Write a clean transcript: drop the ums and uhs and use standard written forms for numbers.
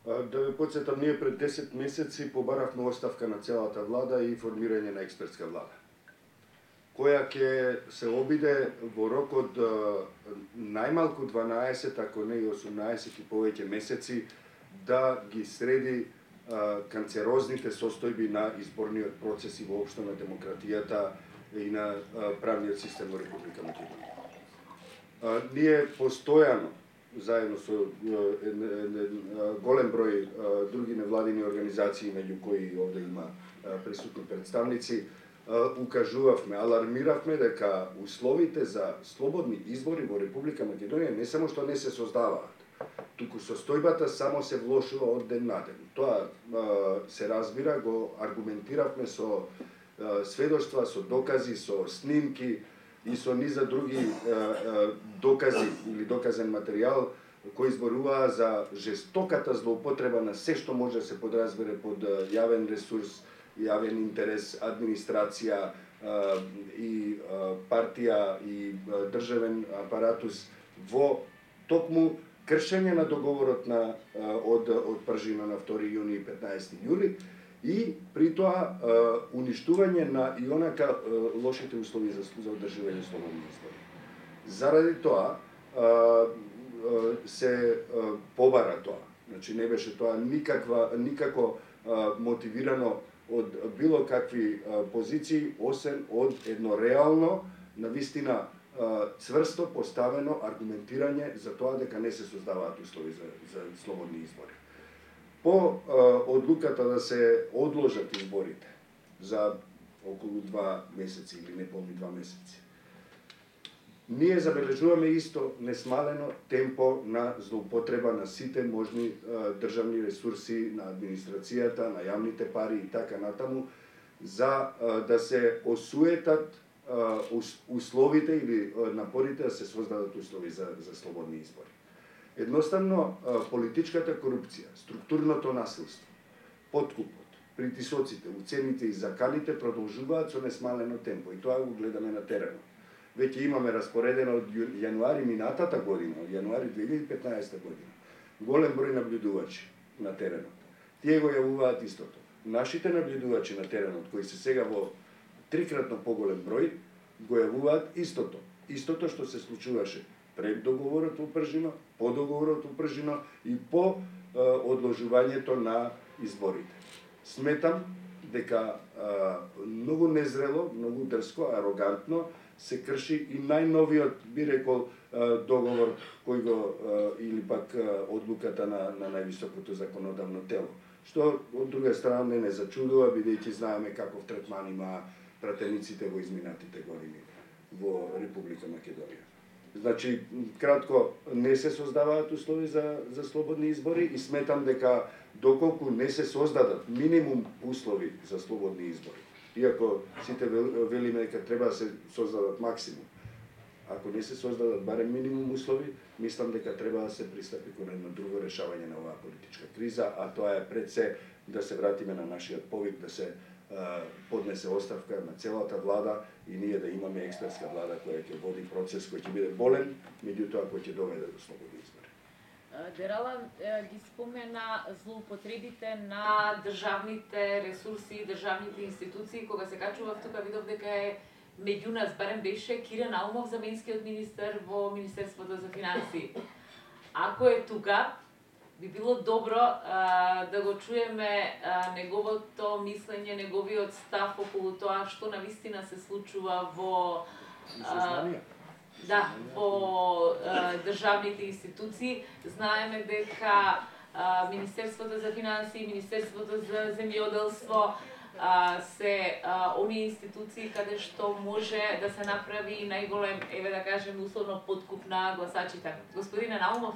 Да ве подсетам, ние пред 10 месеци побаравме оставка на целата влада и формирање на експертска влада, која ќе се обиде во рок од најмалку 12, ако не и 18 и повеќе месеци, да ги среди канцерозните состојби на изборниот процес и воопшто на демократијата и на правниот систем во Република Македонија. Ние постојано, заедно со голем број други невладини организации, меѓу кои овде има присутни представници, укажувавме, алармиравме дека условите за слободни избори во Република Македонија не само што не се создаваат, туку состојбата само се влошува од ден на ден. Тоа се разбира, го аргументиравме со сведоштва, со докази, со снимки и со низа други докази или доказен материјал кои зборуваа за жестоката злоупотреба на се што може да се подразбере под јавен ресурс, јавен интерес, администрација и партија и државен апаратус во токму кршење на договорот од пржина на 2 јуни и 15 јули и при тоа уништување на и онака лошите услови за одржување слободни избори. Заради тоа се побара тоа. Значи не беше тоа никако мотивирано од било какви позиции, освен од едно реално, навистина цврсто поставено аргументирање за тоа дека не се создаваат услови за слободни избори. По одлуката да се одложат изборите за околу 2 месеци или неполни 2 месеци, ние забележуваме исто несмалено темпо на злоупотреба на сите можни државни ресурси, на администрацијата, на јавните пари и така натаму, за да се осуетат условите или напорите да се создадат услови за слободни избори. Едноставно, политичката корупција, структурното насилство, подкупот, притисоците, уцените и заканите продолжуваат со несмалено темпо и тоа го гледаме на теренот. Веќе имаме распоредено од јануари минатата година, од јануари 2015 година, голем број наблюдувачи на теренот. Тие го јавуваат истото. Нашите наблюдувачи на теренот, кои се сега во трикратно поголем број, го јавуваат истото. Истото што се случуваше пред договорот во Пржино, по договорот во Пржино и по одложувањето на изборите. Сметам дека многу незрело, многу дрско, арогантно се крши и најновиот, би рекол, договор кој го или пак одлуката на највисокото законодавно тело. Што од друга страна не зачудува, бидејќи знаеме каков третман има пратениците во изминатите години во Република Македонија. Значи, кратко, не се создаваат услови за слободни избори и сметам дека доколку не се создадат минимум услови за слободни избори, иако сите велиме дека треба да се создадат максимум, ако не се создадат барем минимум услови, мислам дека треба да се пристапи кон едно друго решавање на оваа политичка криза, а тоа е пред се да се вратиме на нашиот повик да се поднесе оставка на целата влада и ние да имаме експертска влада која ќе води процес кој ќе биде болен, меѓутоа кој ќе доведе до слободни избори. Дерала ги спомена злоупотребите на државните ресурси и државните институции. Кога се качував тука видов дека е меѓу нас, барем беше Кире Наумов, заменскиот министер во Министерството за финансии. Ако е тука, би било добро да го чуеме неговото мислење, неговиот став околу тоа што навистина се случува во во државните институции. Знаеме дека Министерството за финансии, Министерството за земјоделство се оние институции каде што може да се направи најголем, еве да кажем, условно подкуп на гласачите. Господине Наумов,